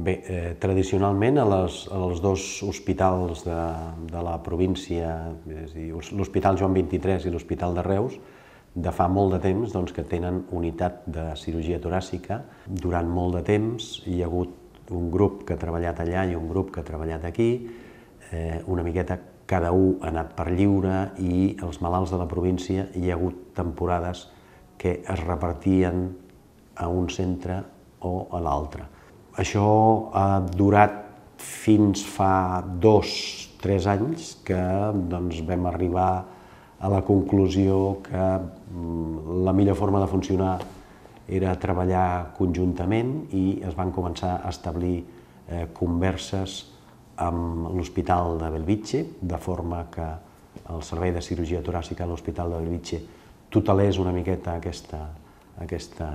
Bé, tradicionalment als dos hospitals de la província, és a dir, l'Hospital Joan XXIII i l'Hospital de Reus, de fa molt de temps que tenen unitat de cirurgia toràcica. Durant molt de temps hi ha hagut un grup que ha treballat allà i un grup que ha treballat aquí. Una miqueta cada un ha anat per lliure i els malalts de la província hi ha hagut temporades que es repartien a un centre o a l'altre. Això ha durat fins fa 2 o 3 anys que vam arribar a la conclusió que la millor forma de funcionar era treballar conjuntament i es van començar a establir converses amb l'Hospital de Bellvitge, de forma que el Servei de Cirurgia Toràcica a l'Hospital de Bellvitge tutelés una miqueta aquesta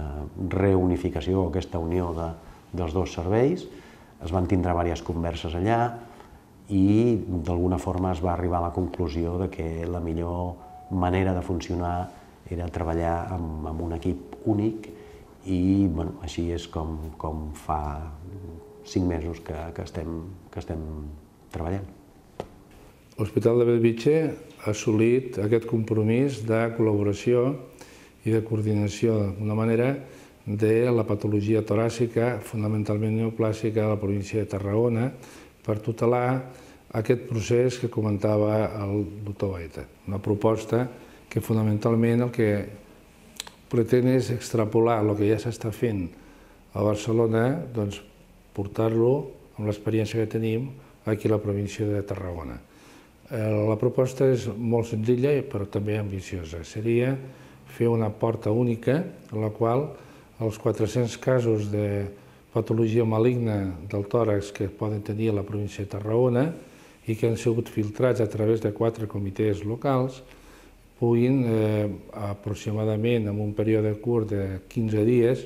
reunificació, aquesta unió dels dos serveis. Es van tindre diverses converses allà i d'alguna forma es va arribar a la conclusió que la millor manera de funcionar era treballar amb un equip únic i així és com fa 5 mesos que estem treballant. L'Hospital de Bellvitge ha assolit aquest compromís de col·laboració i de coordinació d'una manera de la patologia toràcica, fonamentalment neoplàstica, de la província de Tarragona, per tutelar aquest procés que comentava el doctor Baeta. Una proposta que fonamentalment el que pretén és extrapolar el que ja s'està fent a Barcelona, portar-lo, amb l'experiència que tenim, aquí a la província de Tarragona. La proposta és molt senzilla però també ambiciosa. Seria fer una porta única en la qual els 400 casos de patologia maligna del tòrax que poden tenir a la província de Tarragona i que han sigut filtrats a través de 4 comitès locals puguin, aproximadament en un període curt de 15 dies,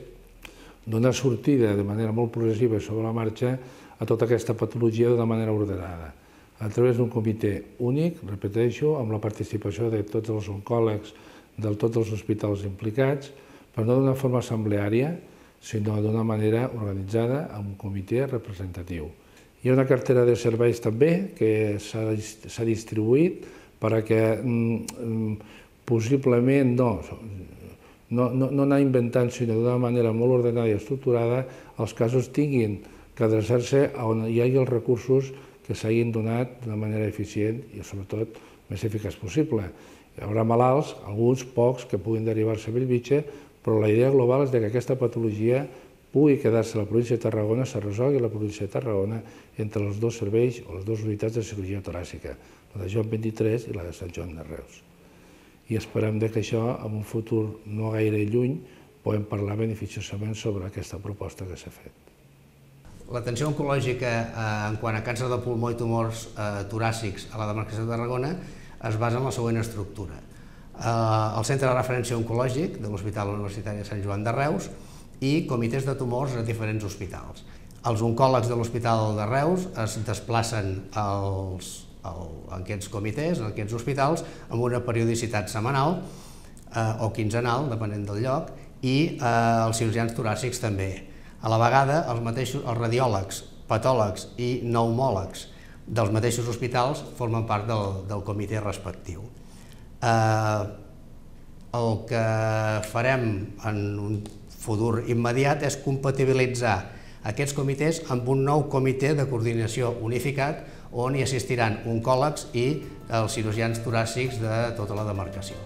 donar sortida de manera molt progressiva sobre la marxa a tota aquesta patologia d'una manera ordenada, a través d'un comitè únic, repeteixo, amb la participació de tots els oncòlegs de tots els hospitals implicats, però no d'una forma assembleària, sinó d'una manera organitzada amb un comitè representatiu. Hi ha una cartera de serveis també que s'ha distribuït perquè possiblement no anar inventant, sinó d'una manera molt ordenada i estructurada, els casos tinguin que adreçar-se on hi hagi els recursos que s'hagin donat d'una manera eficient i, sobretot, més eficaç possible. Hi haurà malalts, alguns, pocs, que puguin derivar-se a Bellvitge, però la idea global és que aquesta patologia pugui quedar-se a la província de Tarragona, se resolgui a la província de Tarragona entre els dos serveis o les dues unitats de cirurgia toràcica, la de Joan XXIII i la de Sant Joan de Reus. I esperem que això, en un futur no gaire lluny, puguem parlar beneficiosament sobre aquesta proposta que s'ha fet. L'atenció oncològica en quant a càncer de pulmó i tumors toràcics a la demarcació de Tarragona es basa en la següent estructura. El Centre de Referència Oncològic de l'Hospital Universitari de Sant Joan de Reus i comitès de tumors a diferents hospitals. Els oncòlegs de l'Hospital de Reus es desplacen en aquests comitès, en aquests hospitals, amb una periodicitat setmanal o quinzenal, depenent del lloc, i els cirurgians toràcics també. A la vegada, els radiòlegs, patòlegs i pneumòlegs dels mateixos hospitals formen part del comitè respectiu. El que farem en un futur immediat és compatibilitzar aquests comitès amb un nou comitè de coordinació unificat on hi assistiran oncòlegs i els cirurgians toràcics de tota la demarcació.